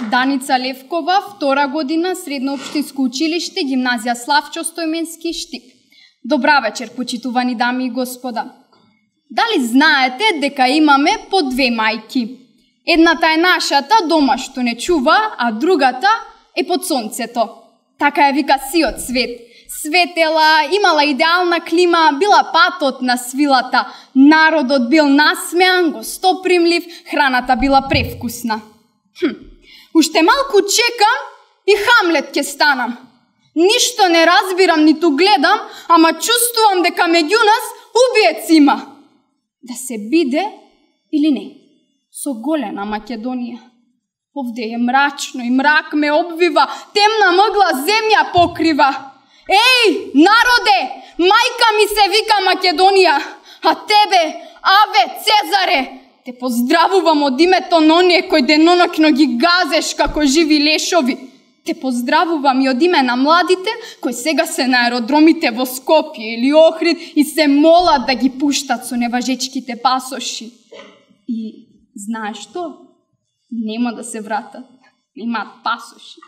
Даница Левкова, 2 година, средно општинско училиште, гимназија Славчо Стојменски, Штип. Добра вечер, почитувани дами и господа. Дали знаете дека имаме по 2 мајки? Едната е нашата, дома што не чува, а другата е под сонцето. Така ја вика сиот свет. Светела, имала идеална клима, била патот на свилата, народот бил насмеан, гостопримлив, храната била превкусна. Уште малку чекам и Хамлет ќе станам. Ништо не разбирам, ниту гледам, ама чувствувам дека меѓу нас убиец има. Да се биде или не? Со голена Македонија. Овде е мрачно и мрак ме обвива, темна мъгла земја покрива. Еј, народе, мајка ми се вика Македонија, а тебе, Аве Цезаре, те поздравувам од името на оние кои деноноќно ги газеш како живи лешови. Те поздравувам и од име на младите кои сега се на аеродромите во Скопје или Охрид и се молат да ги пуштат со неважечките пасоши. И знаеш што? Нема да се вратат, имаат пасоши.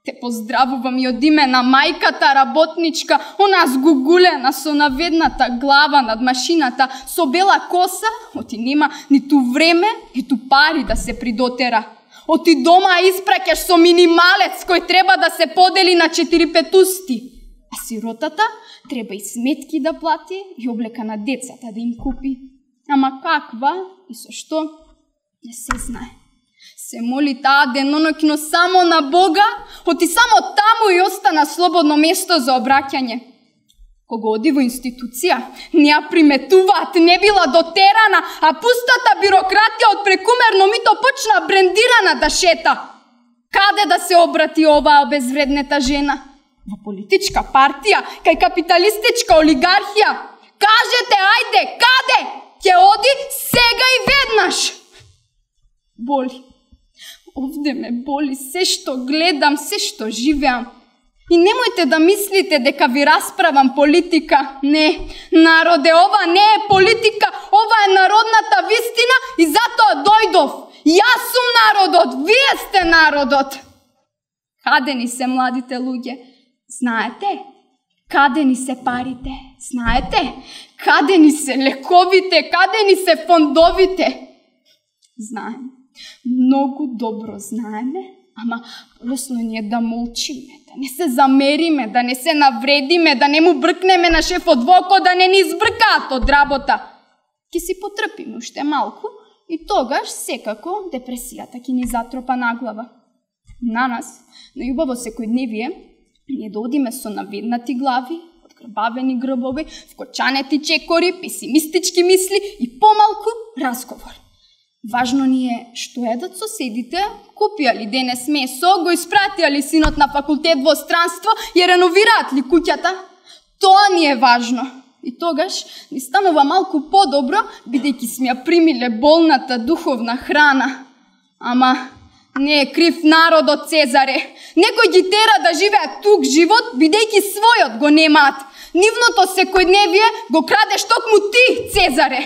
Те поздравувам и од име на мајката работничка, она згугулена со наведната глава над машината, со бела коса, оти нема ниту време, ниту пари да се придотера. Оти дома испраќаш со минималец кој треба да се подели на 4 петусти. А сиротата треба и сметки да плати и облека на децата да им купи. Ама каква и со што не се знае. Се моли таа деноноќно само на Бога, оти само таму и остана слободно место за обраќање. Кога оди во институција, не ја приметуваат, не била дотерана, а пустата бирократија од прекумерно мито почна брендирана да шета. Каде да се обрати оваа безвреднета жена? Во политичка партија, кај капиталистичка олигархија? Кажете, ајде, каде? Ќе оди сега и веднаш. Боли. Овде ме боли се што гледам, се што живеам. И немојте да мислите дека ви расправам политика. Не, народе, ова не е политика, ова е народната вистина и затоа дојдов. Јас сум народот, вие сте народот. Каде ни се младите луѓе? Знаете? Каде ни се парите? Знаете? Каде ни се лековите? Каде ни се фондовите? Знаем. Многу добро знаеме, ама лесно ни е да молчиме, да не се замериме, да не се навредиме, да не му бркнеме на шефот во око, да не ни избркаат од работа. Ке си потрпиме уште малку и тогаш секако депресијата ќе ни затропа на глава. На нас, на љубаво секојдневие, ние да одиме со наведнати глави, одгрбавени грбови, вкочанети чекори, песимистички мисли и помалку разговор. Важно ни е што едат соседите, купија ли денес месо, го испратија ли синот на факултет во странство и реновираат ли куќата. Тоа ни е важно. И тогаш ни станува малку подобро, бидејќи сме ја примиле болната духовна храна. Ама не е крив народот, Цезаре. Некој ги тера да живеат тук живот, бидејќи својот го немаат. Нивното секојдневие го крадеш токму ти, Цезаре.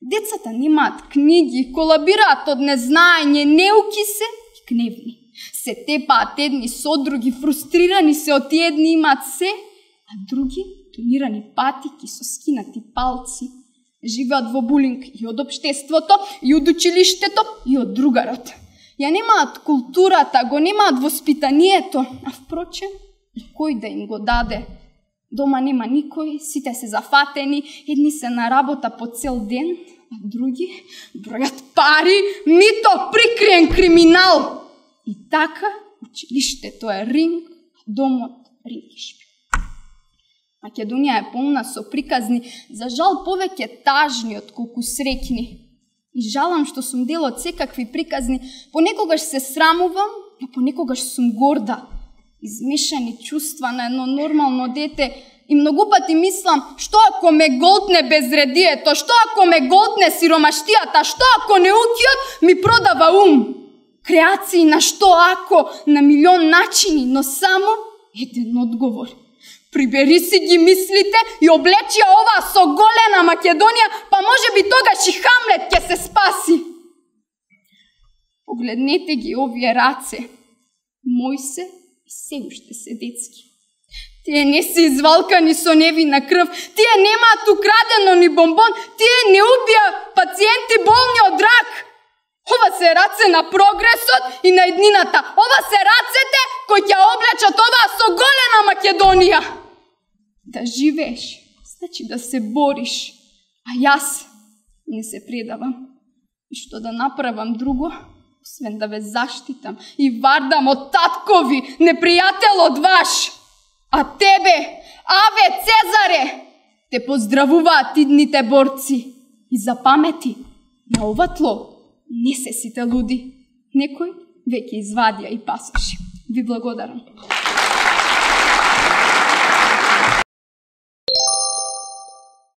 Децата немаат книги, колабираат од незнаење, неуки се и гневни. Се тепаат едни со други, фрустрирани се од едни имаат се, а други тонирани патики со скинати палци. Живеат во булинг и од општеството, и од училиштето, и од другарот. Ја немаат културата, го немаат воспитанието, а впрочем, и кој да им го даде? Дома нема никој, сите се зафатени, едни се на работа по цел ден, а други бројат пари, мито, прикриен криминал. И така, училиштето е ринг, а домот рингишпи. Македонија е полна со приказни, за жал повеќе тажни отколку среќни. И жалам што сум дел од секакви приказни, понекогаш се срамувам, но понекогаш сум горда. Измешани чувства на едно нормално дете и многу пати мислам, што ако ме голтне безредието, што ако ме голтне сиромаштијата, што ако неукиот ми продава ум. Креации на што ако, на милион начини, но само еден одговор. Прибери си ги мислите и облечи ова со голена Македонија, па може би тогаш и Хамлет ќе се спаси. Погледнете ги овие раце. Мои се и се уште се детски. Тие не се извалкани со невина крв, тие немаат украдено ни бомбон, тие не убија пациенти болни од рак. Ова се раце на прогресот и на еднината. Ова се рацете кои ќе облечат оваа соголена Македонија. Да живееш, значи да се бориш. А јас не се предавам. И што да направам друго, освен да ве заштитам и вардам од таткови, непријателот ваш. А тебе, Аве Цезаре, те поздравуваат идните борци. И запамети, на ова тло не се сите луди. Некој веќе извадија и пасоши. Ви благодарам.